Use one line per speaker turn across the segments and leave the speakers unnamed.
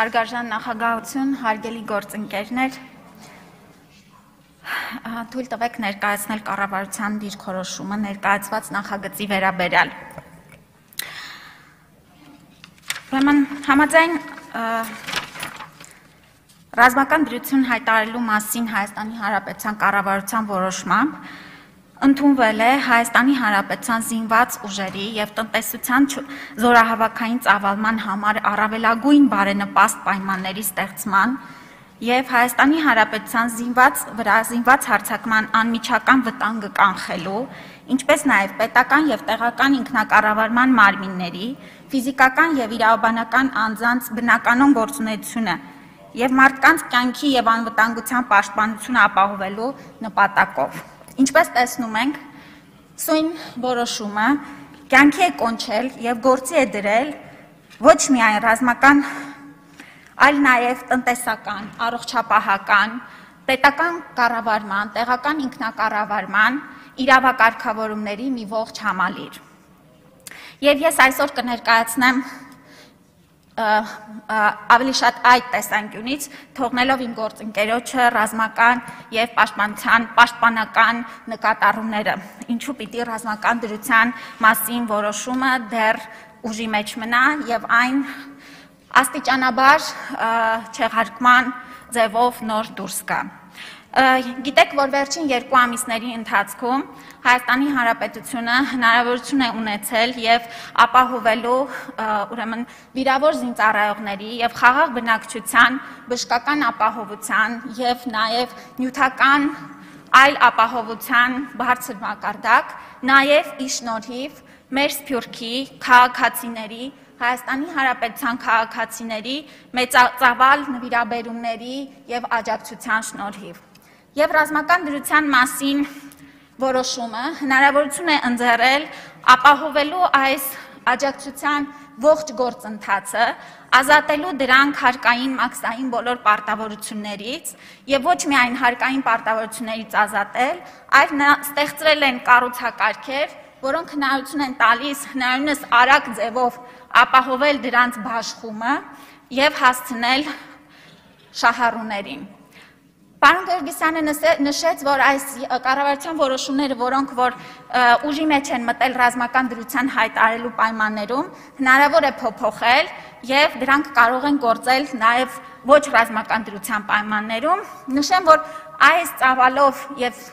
Հարգարժան նախագահություն, հարգելի գործընկերներ, թույլ տվեք ներկայացնել կառավարության դիրքորոշումը ներկայացված նախագծի վերաբերյալ։ Ուրեմն համաձայն ռազմական դրություն հայտարարելու մասին Հայաստանի Հանրապետության կառավարության որոշմամբ ընդունվել է Հայաստանի Հանրապետության զինված ուժերի և տնտեսության զորահավաքային ծավալման համար առավելագույն բարենպաստ պայմանների ստեղծման և Հայաստանի Հանրապետության զինված հարձակման անմիջական վտանգը կանխելու, ինչպես նաև պետական և տեղական ինքնակառավարման մարմինների, ֆիզիկական և իրավաբանական անձանց բնականոն գործունեությունը և մարդկանց կյանքի և անվտանգության պաշտպանությունը ապահովելու նպատակով։ Ինչպես տեսնում ենք, սույն որոշումը կյանքի է կոնչել և գործի է դրել ոչ միայն ռազմական, այլ նաև տնտեսական, առողջապահական, պետական կառավարման, տեղական ինքնակառավարման իրավակարգավորումների մի ողջ համալիր։ Եվ ես այսօր կներկայացնեմ ավելի շատ այդ տեսանկյունից, թողնելով իմ գործընկերոջը ռազմական և պաշտպանական նկատառումները, ինչու պիտի ռազմական դրության մասին որոշումը դեռ ուժի մեջ մնա և այն աստիճանաբար չեղարկման ձևով նոր դուրս գա։ Գիտեք, որ վերջին 2 ամիսների ընթացքում Հայաստանի Հանրապետությունը հնարավորություն է ունեցել և ապահովելու ուրեմն վիրավոր զինծառայողների և խաղաղ բնակչության բժշկական ապահովության և նաև նյութական այլ ապահովության բարձր մակարդակ, նաև ի շնորհիվ մեր Սփյուռքի քաղաքացիների, Հայաստանի Հանրապետության քաղաքացիների մեծածավալ նվիրաբերումների և աջակցության շնորհիվ։ Եվ ռազմական դրության մասին որոշումը հնարավորություն է ընձեռել ապահովելու այս աջակցության ողջ գործընթացը, ազատելու դրանք հարկային մաքսային բոլոր պարտավորություններից և ոչ միայն հարկային պարտավորություններից ազատել, այլ ստեղծվել են կառուցակարգեր, որոնք հնարավորություն են տալիս հնարավորինս արագ ձևով ապահովել դրանց բաշխումը և հասցնել շահառուներին։ Պարոն Գերգիսյանը նշեց, որ այս կառավարության որոշումները, որոնք որ ուժի մեջ են մտել ռազմական դրության հայտարարելու պայմաններում, հնարավոր է փոփոխել և դրանք կարող են գործել նաև ոչ ռազմական դրության պայմաններում։ Նշեմ, որ այս ծավալով և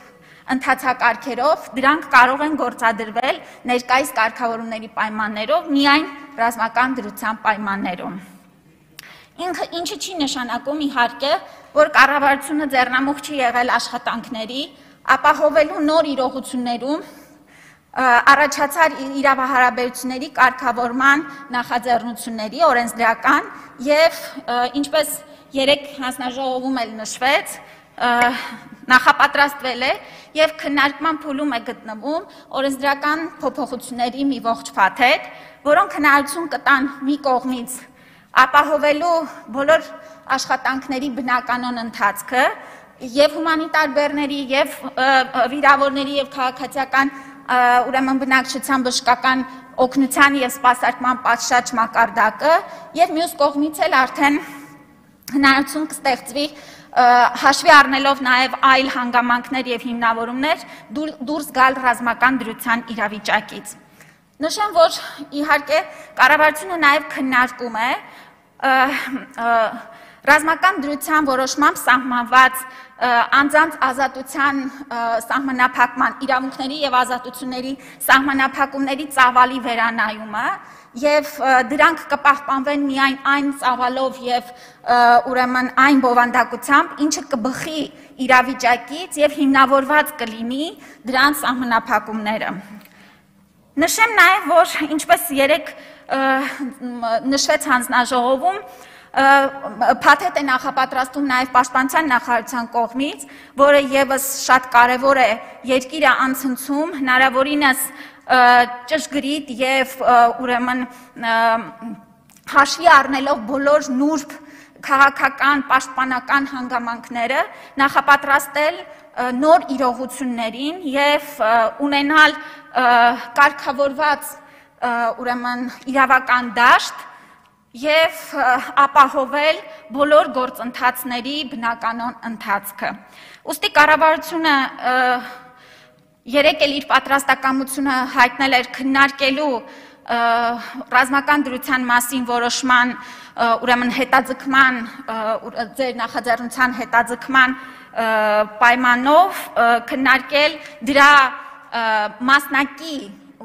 ընթացակարգերով դրանք կարող են գործադրվել ներկայիս կարգավորումների պայմաններով միայն ռազմական դրության պայմաններում։ Ինչը չի նշանակում իհարկե, որ կառավարությունը ձեռնամուխ չի եղել աշխատանքների, ապահովելու նոր իրողություններում առաջացար իրավահարաբերությունների կարգավորման նախաձեռնությունների օրենսդրական և ինչպես երեկ հանձնաժողովում էլ նշվեց, նախապատրաստվել է և քննարկման փուլում է գտնվում օրենսդրական փոփոխությունների մի ողջ փաթեթ, որոնք հնարավորություն կտան մի կողմից ապահովելու բոլոր աշխատանքների բնականոն ընթացքը և հումանիտար բեռների և վիրավորների և քաղաքացիական ուրեմն բնակչության բժշկական օգնության և սպասարկման պատշաճ մակարդակը և մյուս կողմից էլ արդեն հնարավորություն կստեղծվի հաշվի առնելով նաև այլ հանգամանքներ և հիմնավորումներ դուրս գալ ռազմական դրության իրավիճակից։ Նշեմ, որ իհարկե կառավարությունը նաև քննարկում է ռազմական դրության որոշմամբ սահմանված անձանց ազատության սահմանափակման, իրավունքների և ազատությունների սահմանափակումների ծավալի վերանայումը և դրանք կպահպանվեն միայն այն ծավալով և ուրեմն այն բովանդակությամբ, ինչը կբխի իրավիճակից և հիմնավորված կլինի դրանց սահմանափակումները։ Նշեմ նաև, որ ինչպես երեկ նշվեց հանձնաժողովում, փաթեթ է նախապատրաստում նաև պաշտպանության նախարարության կողմից, որը ևս շատ կարևոր է երկիրը անցնցում, հնարավորինս ճշգրիտ և ուրեմն հաշվի առնելով բոլոր նուրբ քաղաքական, պաշտպանական հանգամանքները, նախապատրաստել նոր իրողություններին և ունենալ կարգավորված ուրեմն իրավական դաշտ եւ ապահովել բոլոր գործընթացների բնականon ընթացքը։ Ուստի կառավարությունը երեկ էլ իր պատրաստակամությունը հայտնել էր քննարկելու ռազմական դրության մասին որոշման ուրեմն հետաձգման ձեր նախաձեռնության հետաձգման պայմանով քննարկել դրա մասնակի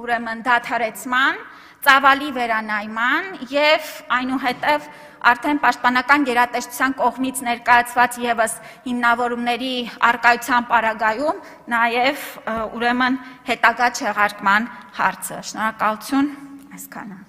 ուրեմն դադարեցման, ծավալի վերանայման եւ այնուհետեւ արդեն պաշտպանական գերատեսչության կողմից ներկայացված եւս հիմնավորումների արկայության պարագայում նաեւ ուրեմն հետագա չեղարկման հարցը։ Շնորհակալություն, այսքանը։